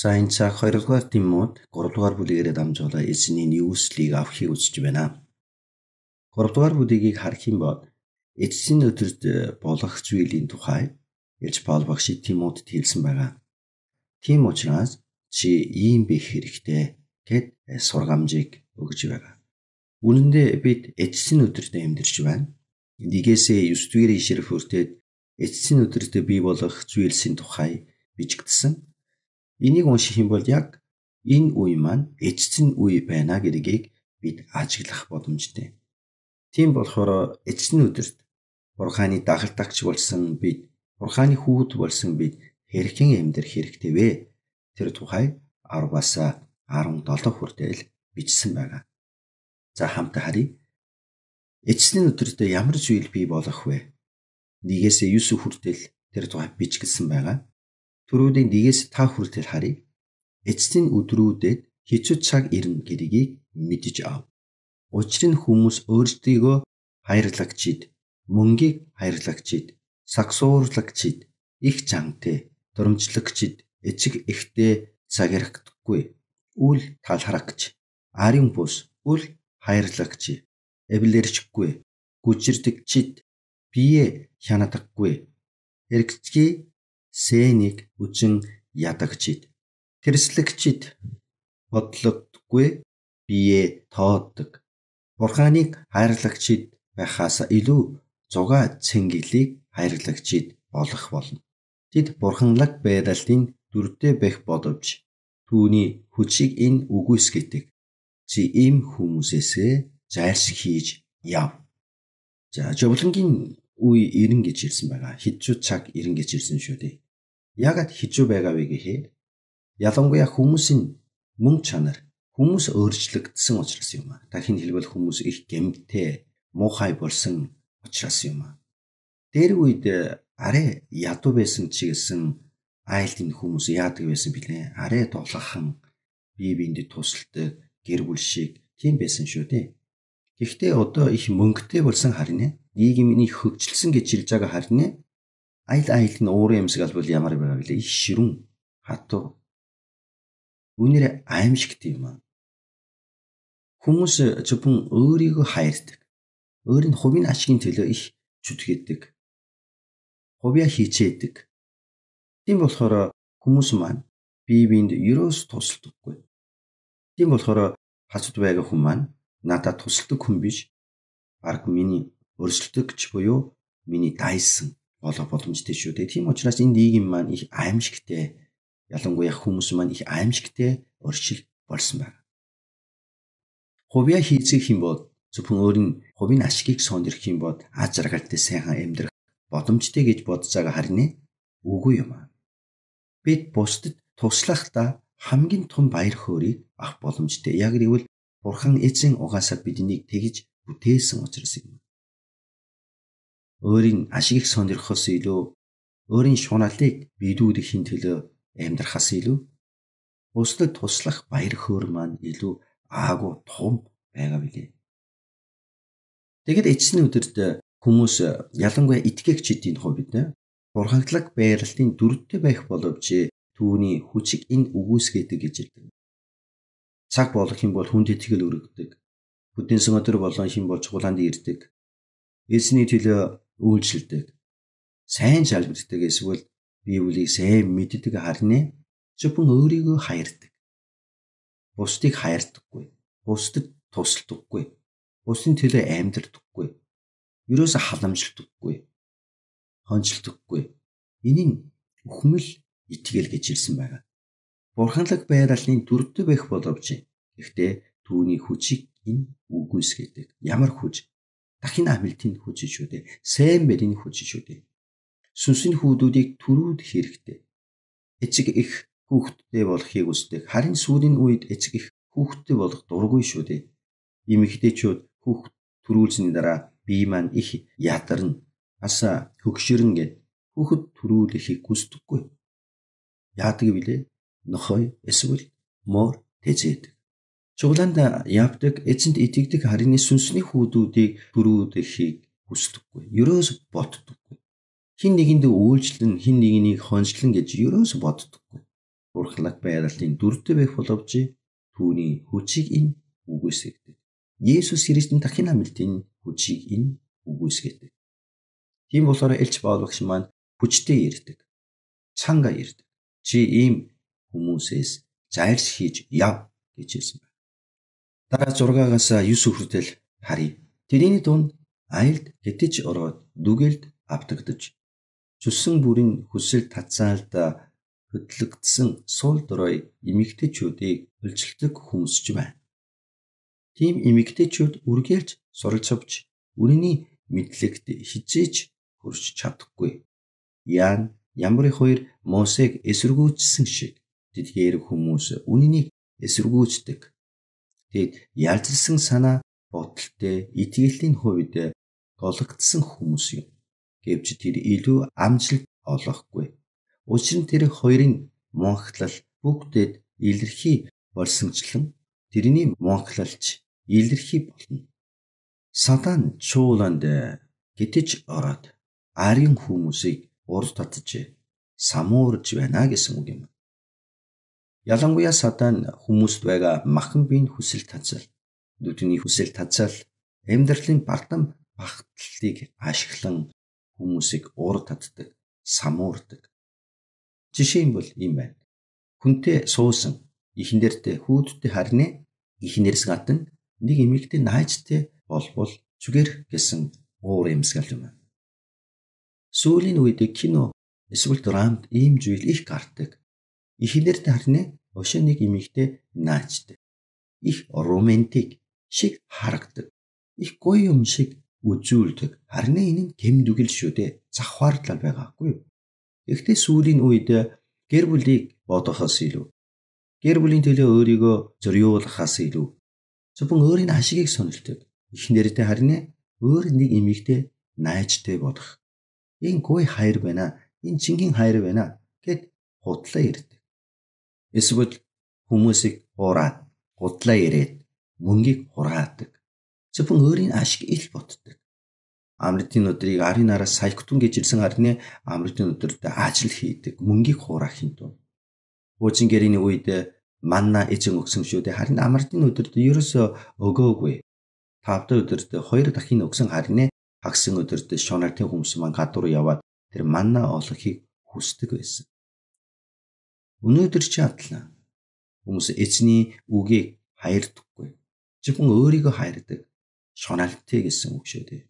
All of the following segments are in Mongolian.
За энэ цаг 2 дугаар Тимот 3 дугаар бүлэгээрээ дамжуулан эзний нийслэлийг авахыг үзэж байна. 3 дугаар бүлэгийг харах юм бол эцсийн өдөрт болох зүйлийн тухай ярьж Паул багш Тимотед хэлсэн байгаа. Тийм учраас чи ийм байх хэрэгтэй гэд сургамжийг өгж байгаа. Үнэн дээр бид эцсийн өдөрт амьдарч байна. 1-9 ишлэл хүртэл эцсийн өдөрт бий болох зүйлсийн тухай бичигдсэн. Энийг унших юм бол яг энэ үе маань эцсийн үе байна гэдгийг бид ажиглах боломжтой. Тийм болохоор эцсийн өдөрт Бурханы дагалдагч болсон бид, Бурханы хүүхэд болсон бид хэрхэн амьдрах хэрэгтэй вэ? Тэр тухай 10-аас 17 хүртэл бичсэн байгаа. За хамтаа харъя. Эцсийн өдөрт ямар зүйл бий болох вэ? 1-9 хүртэл тэр тухай бичигдсэн байгаа. Түрүүний 1-5 хүртэл харъя. Эцсийн өдрүүдэд хэцүү цаг ирнэ гэдгийг мэдэж ав. Учир нь хүмүүс өөрсдийгөө хайрлагчид, мөнгийг хайрлагчид, сагсуурлагчид, их чангатай, дурамжлагчид, эцэг эхтэй цагирхдаггүй, үл талхрагч, арын бус, үл хайрлагч, эвлэрчгүй, гүжирдэгчид, бие хянадаггүй, эргэцгий сэнийг үжин ядагчид, тэрслэгчид, бодлогдгүй, бие тооддог, Бурханыг хайрлагчид байхаас илүү зугаа цэнгэлийг хайрлагчид болох болно. Тэд бурханлаг байдлын дүртэй байх боловч түүний хүчийг энэ үгүйсгэдэг. Чи ийм хүмүүсээсээ зайлшгүй хийж яв. За жовлонгийн үе ирнэ гэж ирсэн байгаа. Хэцүү цаг ирнэ гэж ирсэн шүү дээ. Яагаад хэцүү байгаа вэ гэхээр ялангуяа хүмүүсийн мөн чанар хүмүүс өөрчлөгдсөн учраас юм аа. Дахин хэлбэл хүмүүс их гэмтээ, муухай болсон учраас юм аа. Тэр үед арай ядуу байсан ч гэсэн айлтын хүмүүс яадаг байсан бэлээ. Арай дулаахан, бие биендэд тусалдаг, гэр бүл шиг тийм байсан шүү дээ. Гэхдээ одоо их мөнгөтэй болсон харин нийгмийн хөгжилсөн гэж хэлж байгаа харин айл нь уурын эмсэг албал ямар байгаа вэ? Их ширүүн, хатуу. Үнээр аимшигт юм аа. Хүмүүс зөвхөн өөрийгөө хайрдаг. Өөрийн хувийн ашигын төлөө их зүтгэдэг. Хувиа хичээдэг. Тийм болохоор хүмүүс маань бие биend ерөөс тусалдаггүй. Тийм болохоор хацд байгаа хүн маань надад тусалдаг хүн биш. Бараг миний өрсөлдөгч буюу миний дайсан болох боломжтой шүү дээ. Тийм учраас энэ нийгэм маань их аимшигтэй, ялангуяа хүмүүс маань их аимшигтэй оршил болсон байна. Хувиа хийцгэх юм бол зөвхөн өөрийн хувийн ашигыг сонирх юм бол аз жаргалтай сайхан амьдрах боломжтой гэж бодож байгаа харин үгүй юм аа. Бид бусдад туслахдаа хамгийн том баяр хөөргийг авах боломжтой. Яг гэвэл Бурхан эзэн угаасаа биднийг тэгж бүтээсэн учраас юм. Өөрийн ашигыг сонирхохоос илүү өөрийн шуналлыг бидүүлэхийн төлөө амьдрахаас илүү бусдад туслах баяр хөөр маань илүү аагүй том байгаа билээ. Тэгэд эцсийн өдөрт хүмүүс ялангуяа итгэгчдийн хувьд бурханлаг байралтын дүртэй байх боловч түүний хүчийг энэ үгүйсгэдэг гэж хэлдэг. Цаг болох юм бол хүнд итгэл өргөдөг. Бүдэнсэн өдөр болон хин бол чуулганд ирдэг. Эзний төлөө үйлчлдэг. Сайн залбирдаг эсвэл Библийг сайн мэддэг харин зөвхөн өөрийгөө хайрдаг. Бусдыг хайрдаггүй. Бусдад тусалдаггүй. Бусдын төлөө амьдрдаггүй. Ерөөсө халамжилдаггүй. Хонжилдаггүй. Энэ нь үхмэл итгэл гэж хэлсэн байгаа. Бурханлаг байралын дүртэй байх боловч гэхдээ түүний хүчийг энэ үгүйсгэдэг. Ямар хүч? Дахин амилтын хүч шүү дээ. Сайн барийн хүч шүү дээ. Сүнсний хүүдүүдийг төрүүд хэрэгтэй. Эцэг их хүүхдтэй болохыг хүсдэг. Харин сүүлийн үед эцэг их хүүхдтэй болох дургүй шүү дээ. Эмэгтэйчүүд хүүхд төрүүлсэний дараа бие маань их ядарна. Аса хөгшөрн гэд хүүхд төрүүлэхийг хүсдэггүй. Яадаг вүлээ? Нохой эсвэл мор тэзээд. Чуулганд явдаг, эзэнт итгэдэг харин сүнсний хүүдүүдийг төрүүлэхийг хүсдэггүй. Ерөөс боддоггүй. Хин нэгэнд үйлчлэн, хин нэгийг хончлон гэж ерөөс боддоггүй. бурхлаг байдлын дүртэй байх боловч түүний хүчийг энэ үгүйсгэдэг. Есүс Христийн дахин амлалтын хүчийг энэ үгүйсгэдэг. Тийм болохоор Элч Паул багш маань хүчтэй ирдэг. Цанга ирдэг. Чи ийм хүмүүсээс зайлш хийж яв гэж хэлсэн байна. Дараа 6-аас 9 хүртэл харъя. Тэрний дунд айлд гэтэж ороод дүгэлд автагдаж зүсэн бүрийн хүсэл татсаалда хөдлөгдсөн сул дорой эмэгтэйчүүдийг хөлжилдөг хүмүүс ч байна. Тийм эмэгтэйчүүд үргэлж суралж авч үнэний мэдлэгт хизээж хүрч чадахгүй. Яан ямар их хоёр Мосег эсэргүүцсэн шиг тэдгээр хүмүүс үнэнийг эсэргүүцдэг. Тэд ялзсан санаа бодолтой итгэлтийн хувьд гологдсон хүмүүс юм. Гэвч тэр илүү амжилт олохгүй. Учир нь тэр хоёрын монхлал бүгдээд илэрхий болсончлон тэрний монхлалч илэрхий болно. Сатан чууланд гэтэж ороод ариун хүмүүсийг урд татж самуурж байна гэсэн үг юм. Ялангуяа Сатан хүмүүст байгаа махан биеийн хүсэл татсал, нүдний хүсэл татсал, амьдралын бардам багтлыг ашиглан хүмүүсийг урд татдаг, самуурдаг. Жишээ нь бол ийм байна. Хүнтэй суусан ихнэртэй хүүдтэй харнэ, ихнэрс гадна нэг эмэгтэй наажтай болбол зүгээр гэсэн уур амьсгал юм. Сүүлийн үед кино эсвэл драмд ийм зүйл их гардаг. Ихнэртэй харнэ, өшөө нэг эмэгтэй наажтай. Их романтик шиг харагдаг. Их гоё юм шиг үзүүлдэг. Харин энэ нь гэмдүгэл шүү дээ. Завхаарлал байгаагүй юу? Гэхдээ сүүлийн үед гэр бүлийг бодохоос илүү, гэр бүлийн төлөө өөрийгөө зориулахаас илүү зөвхөн өөрийн ашигыг сонирхдаг. Ихнэртэй харин өөр нэг эмэгтэй найзтай бодох. Энэ гоё хайр байна. Энэ чингийн хайр байна гэд худлаа ирдэг. Эсвэл хүмүүсийг ураад, худлаа ирээд мөнгийг хураадаг. Зөвхөн өөрийн ашиг ил боддог. Амралтын өдрийг арын нараас саягтун гэж ирсэн харин амралтын өдөрт ажил хийдэг, мөнгийг хураах юм дуу. Хуучин гэрээний үед манна эзэн өгсөн шүү дээ. Харин амралтын өдөрт ерөөсөө өгөөгүй. Тавда өдөрт 2 дахин өгсөн харин хагсын өдөрт шоналтын хүмүүс маань гадуур яваад тэр манна олохыг хүсдэг байсан. Өнөөдөр ч адилхан. Хүмүүс эзний үгийг хайрдаггүй. Зөвхөн өөрийгөө хайрдаг. Шоналтай гэсэн үг шүү дээ.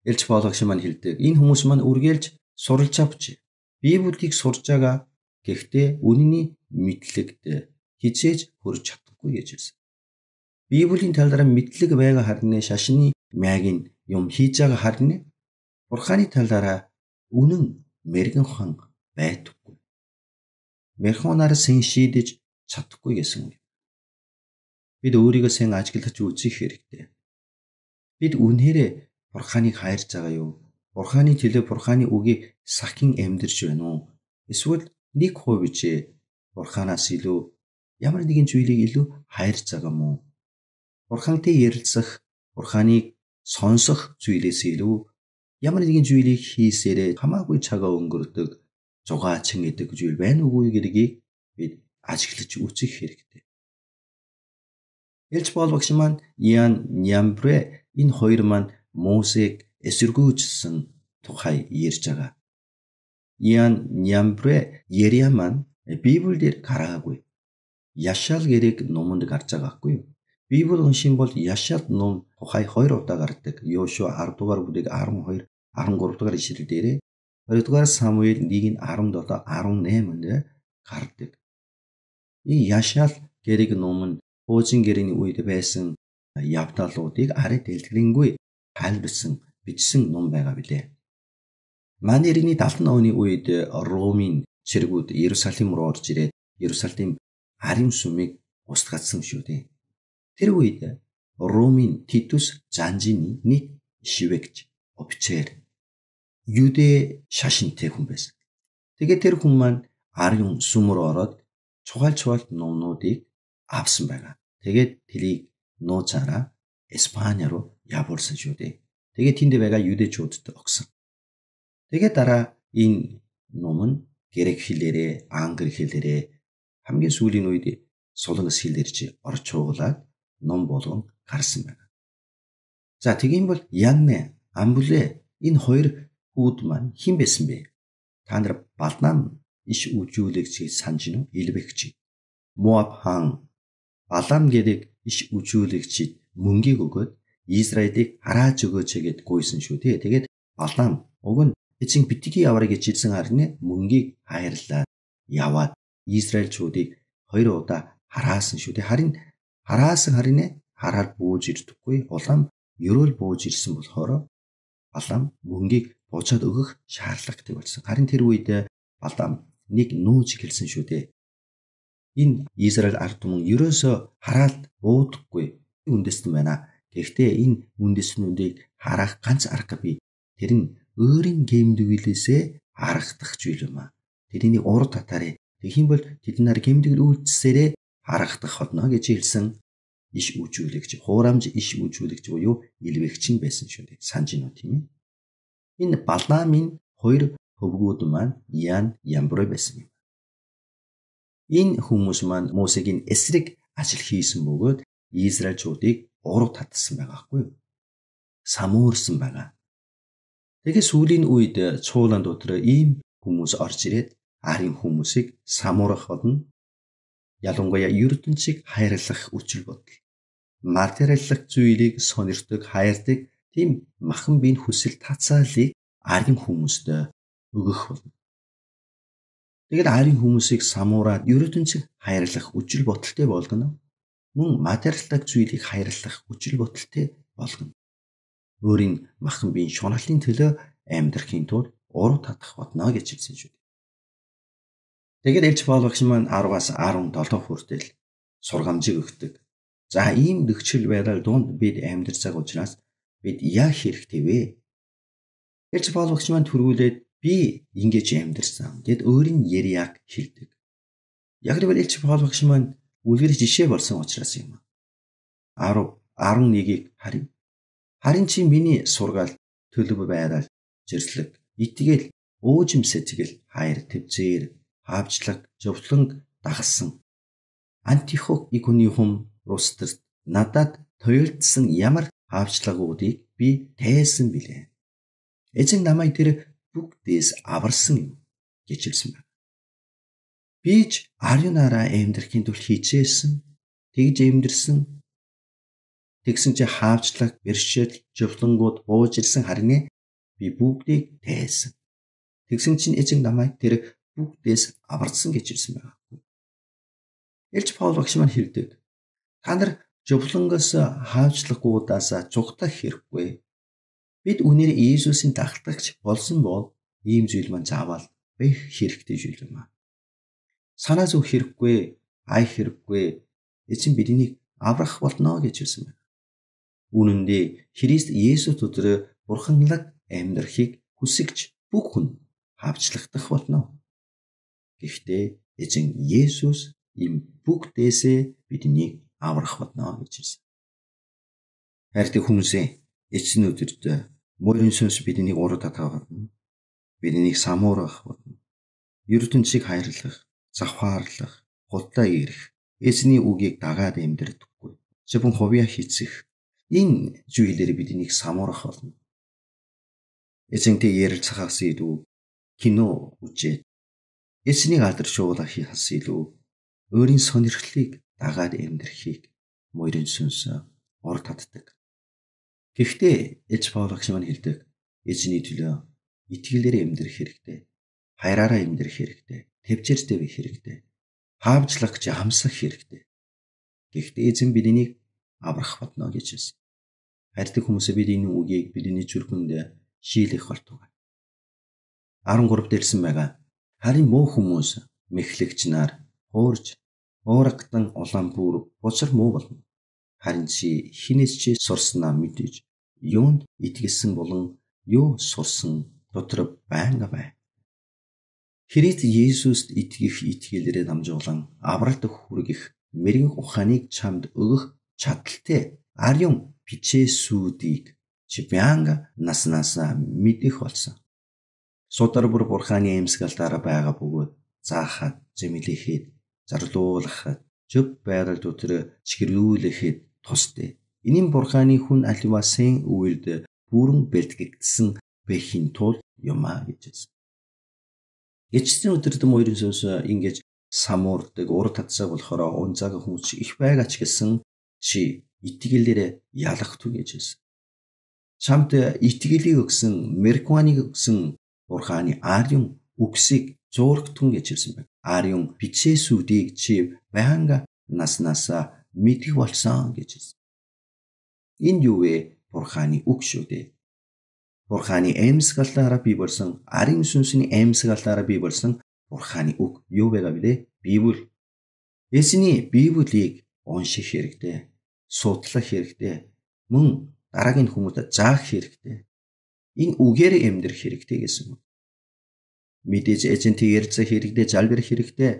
Элч Паул багш маань хэлдэг. Энэ хүмүүс маань үргэлж суралж авч Библийг сурж байгаа. Гэхдээ үнэний мэдлэгт хизээж хүрч чадахгүй гэж хэлсэн. Библийн тал дээр мэдлэг байгаа харин шашны мягийн юм хийж байгаа харин Бурханы талаараа үнэн мэрэгэн хан байдаггүй. Мэрхунаар сэн шийдэж чадахгүй гэсэн үг. Бид өөрийгөө сэн ажиглаж үзэх хэрэгтэй. Бид үнээрээ Бурханыг хайрж байгаа юу? Бурханы төлөө Бурханы үгийг сахин амьдарч байна уу? Эсвэл нэг хувьч Бурханаас илүү ямар нэгэн зүйлийг илүү хайрж байгаа мó? Бурхантай ярилцах, Бурханыг сонсох зүйлээс илүү ямар нэгэн зүйлийг хийсээрээ хамаагүй цагаа өнгөрдөг, зугаачин гэдэг зүйл байна уугүй гэдгийг бид ажиглаж үзэх хэрэгтэй. Элч Паул багш маань Ян Нямбрэ энэ хоёр маань Мосег эсэргүүцсэн тухай ярьж байгаа. Ян Нямбрэ Ерия маань Библиэр гараагүй. Яшаал гэрэг номонд гарч байгаагүй юу? Библи уншин бол Яшаал ном тухай 2 удаа гардаг. Йошуа 10 дугаар бүлэг 12, 13 дугаар ишлэл дээрээ 2 дугаар Самуэль 1:17, 18-нд гардаг. И Яшаал гэрэг ном нь хуучин гэрээний үед байсан явдалуудыг арай дэлгэрэнгүй тайлбарсан бичсэн ном байгаа билээ. Манай эртний 70 оны үед Ромын цэргүүд Иерусалим руу орж ирээд Иерусалим ариун сүмийг устгацсан шүү дээ. Тэр үед Ромын Титус Занжины нэг шивэгч офицер Юдэ шашинтай хүн байсан. Тэгээд тэр хүн маань ариун сүм рүү ороод чухал номнуудыг авсан байгаа. Тэгээд тэрийг нууцаараа Испани руу явуулсан шүү дээ. Тэгээд тэнд байгаа юдэчүүдд огсон. Тэгээд дараа энэ ном нь грек хэлээрээ, англи хэлээрээ хамгийн сүүлийн үед Сулангас хил ирж орж чуугалаад ном болгон гарсан байна. За тийм бол Янне, Амбуле энэ хоёр хүүд маань хэн байсан бэ? Та нар Балаам иш үжүүлэгчийг санаж нь Илбэгч. Моаб хаан Балаам гэдэг иш үжүүлэгчид мөнгийг өгөөд Израилийг харааж өгөөч гэд гуйсан шүү дээ. Тэгээд Балаам уг нь эцэг битгий яваарай гэж хэлсэн харин мөнгийг хайрлаад яваад Израильчуудыг 2 удаа хараасан шүү дээ. Харин хараад бууж ирдэггүй. Улаам ерөөл бууж ирсэн болохоор Балаам мөнгийг буцаад өгөх шаардлагатай болсон. Харин тэр үед Балаам нэг нүүж хэлсэн шүү дээ. Энэ Израиль ард түмэн ерөөсөө хараад буудаггүй үндэстэн байна. Гэхдээ энэ үндэстнүүдийг харах ганц арга бий. Тэр нь өөрийн гэмдвэлээсээ харагдах зүйл юм аа. Тэрний урд татаарэ. Тэгхийн бол тэд нар гэмтгэл үйлдэлсээрээ харагдах болно гэж хэлсэн иш үжүүлэгч, хуурамж иш үжүүлэгч буюу Илбэгч байсан шүү дээ. Санаж байна уу тийм ээ? Энэ Балаамын 2 хөвгүүд маань Ян, Ямброй байсан юм. Энэ хүмүүс маань Мосегийн эсрэг ажил хийсэн бөгөөд Израильчуудыг ураг татсан байгаа хгүй юу? Самуурсан байгаа. Тэгээ сүүлийн үед цуулан дотор ийм хүмүүс орж ирээд арын хүмүүсийг самуурах болно. Ялангуяа ертөнцийг хайрлах үчил бодол. Материаллах зүйлийг сонирхдог, хайрдаг тийм махан биеийн хүсэл тацаалыг арын хүмүүст өгөх болно. Тэгээд арын хүмүүсийг самуураад ертөнцийг хайрлах үчил бодолтой болгоно. Мөн материаллах зүйлийг хайрлах үчил бодолтой болгоно. Өөрийн махан биеийн шуналлын төлөө амьдрахын тулд уруу татах болно гэж хэлсэн шүү дээ. Тэгээд Элч Паул багш маань 10-аас 17 хүртэл сургамжийг өгдөг. За ийм нөхцөл байдал донд бид амьдарч байгаа учраас бид яах хэрэгтэй вэ? Элч Паул багш маань түрүүлээд би ингэж амьдарсан гэд өөрийн яриаг хэлдэг. Яг л Элч Паул багш маань үлгэр жишээ болсон учраас юм. 10:11-ийг харъя. Харин чи миний сургаал, төлөв байрал, зэрлэг, итгэл, уужим сэтгэл, хайр, тэвзээр, хаавчлаг, зөвлөнг дагсан. Антихох иконихум рустерт надад тойлдсон ямар хаавчлагуудыг би тайсан билээ. Эзэн намайг тэр бүгдээс аварсан юм гэж хэлсэн байна. Би ч ариунаараа амьдрахын тулд хичээсэн, тэгж амьдрсан. Тэгсэн чи хаавчлаг, бэршээл, зөвлөнгүүд бууж ирсэн харин би бүгдийг тайсан. Тэгсэн чинь эзэн намайг тэр бүгдээс аварсан гэж хэлсэн байна. Элч Паул багш маань хэлдэг. Та нар зөвлөнгөөс хаавчлагуудаас зугтах хэрэггүй. Бид үнээр Иесусийн дагтагч болсон бол ийм зүйл маань заавал байх хэрэгтэй зүйл юм аа. Санаа зовх хэрэггүй, ай хэрэггүй. Эзэн биднийг аврах болно гэж хэлсэн байна. Үнэн дээр Христ Есүс өдрөө бурханлаг амьдрахыг хүсэгч бүх хүн хаавчлагдах болно. Гэхдээ эзэн Есүс им бүгдээсээ биднийг аврах болно гэж хэлсэн. Хайртай хүмүүсээ эцэн өдөрт морин сүнс биднийг уруу татах болно. Биднийг самуурах болно. Ертөнцийг хайрлах, завхаарлах, худалдаа ирэх, эзний үгийг дагаад амьдрдаггүй. Зөвхөн хувиа хийцэх энэ зүйлээр биднийг самуурах болно. Эзэнтэй ярилцахаас илүү кино үзээд эзнийг алдаршуулах хас илүү өөрийн сонирхлыг дагаад амьдрахыг морин сүнс урд татдаг. Гэхдээ Элч Паул багш маань хэлдэг эзний төлөө итгэлээр амьдрах хэрэгтэй, хайраараа амьдрах хэрэгтэй, тэвчээртэй байх хэрэгтэй, хаавчлагч хамсах хэрэгтэй. Гэхдээ эзэн биднийг аврах болно гэж хэлсэн. Хайртай хүмүүсээ бид энэ үгийг бидний зүрхэнд шийлэх болтугай. 13 дэлсэн байгаа. Харин муу хүмүүс мэхлэгч нар хуурж уурагдан улаан бүр бузар муу болно. Харин чи хинээс чи сурснаа мэдэж юунд итгэсэн болон юу сурсан дотор байнга бай. Христ Есүст итгэх итгэлээрээ дамжуулан авралт хүргэх мэрэгэн ухааныг чамд өгөх чадaltaй ариун бичээсүүдийг чи байнга наснасаа мэдэх болсон. Судар бүр бурханы эмсгэлээр байгаа бөгөөд заахад зэмлэхэд зарлуулахад, зөв байдалд өдрө чигэрүүлэхэд тусдээ. Энэ нь Бурханы хүн аливаасын үйлд бүрэн бэлтгэгдсэн бэхийн тул юм а гэж. Эцсийн өдрөд моёрын сүнс ингэж самуурдаг ур татсаа болохоор унцааг хүмүүс их байгаа ч гэсэн чи итгэлээр ялахтун гэж. Чамд итгэлийг өгсөн, марихуаныг өгсөн Бурханы ариун үгсийг зуурхтун гэж хэлсэн байна. Ариун бичээсүүдийг чи байнга наснасаа мэдэх болсон гэж хэлсэн. Энэ юу вэ? Бурханы үг шүү дээ. Бурханы амьсгалаараа бий болсон, ариун сүнсний амьсгалаараа бий болсон Бурханы үг юу байгаа вэ? Библи. Эзний Библийг унших хэрэгтэй, судлах хэрэгтэй, мөн дараагийн хүмүүст заах хэрэгтэй. Энэ үгээр амьдрах хэрэгтэй гэсэн үг. Мэдээж эзэнтэй ярилцах хэрэгтэй, залбирах хэрэгтэй.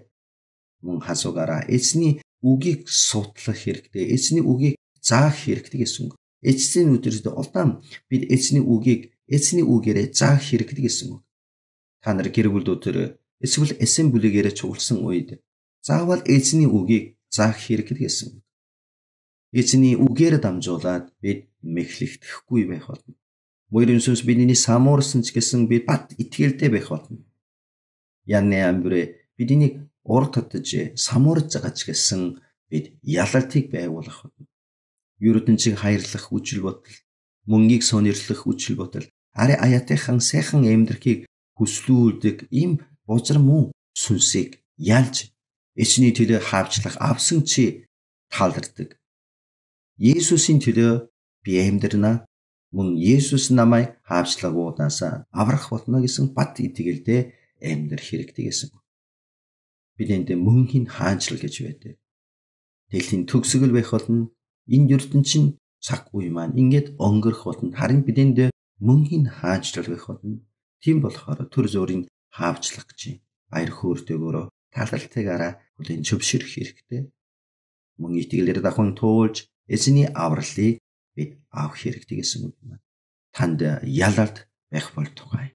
Мөн хасуугаараа эзний үгийг судлах хэрэгтэй, эзний үгийг заах хэрэгтэй гэсэн үг. Эцсийн өдрөд улаан бид эзний үгээрээ заах хэрэгтэй гэсэн үг. Та нар гэр бүл өдөр эсвэл эсен бүлэгээрээ чуулсан үед заавал эзний үгийг заах хэрэгтэй гэсэн үг. Эзний үгээр дамжуулаад бид мэхлэгдэхгүй байх болно. Моёрын сүнс бидний самуурсан ч гэсэн бид бат итгэлтэй байх болно. Яны амбрэ бидний ур татж самуурж байгаа ч гэсэн бид ялалтыг байгуулах болно. Ердөнчийг хайрлах үжил бодол, мөнгийг сонирхлох үжил бодол, ари аяатайхан сайхан амьдрахыг хүслүүлдэг ийм бузар мөн сүнсийг ялж эзний төлөө хаавчлах авсан чи таалардаг. Есүсийн төлөө би амьдрнаа, мөн Есүс намайг хаавчлагуудаас аврах болно гэсэн бат итгэлтэй амьдрах хэрэгтэй гэсэн. Бидэнд мөнхийн хаанчлал гэж байдаг. Дэлхийн төгсгөл байх болно. Энэ ертөнцийн цаг үе маань ингээд өнгөрөх болно. Харин бидэнд мөнхийн хаанчлал байх болно. Тийм болохоор төр зүрийн хаавчлах гэж баяр хөөртэйгөөрөө талалтайгаараа хүлээн зөвшөөрөх хэрэгтэй. Мөн итгэлээр давхан туулж эзний авралыг бид авах хэрэгтэй гэсэн үг юм. Танд ялалт байх болтугай.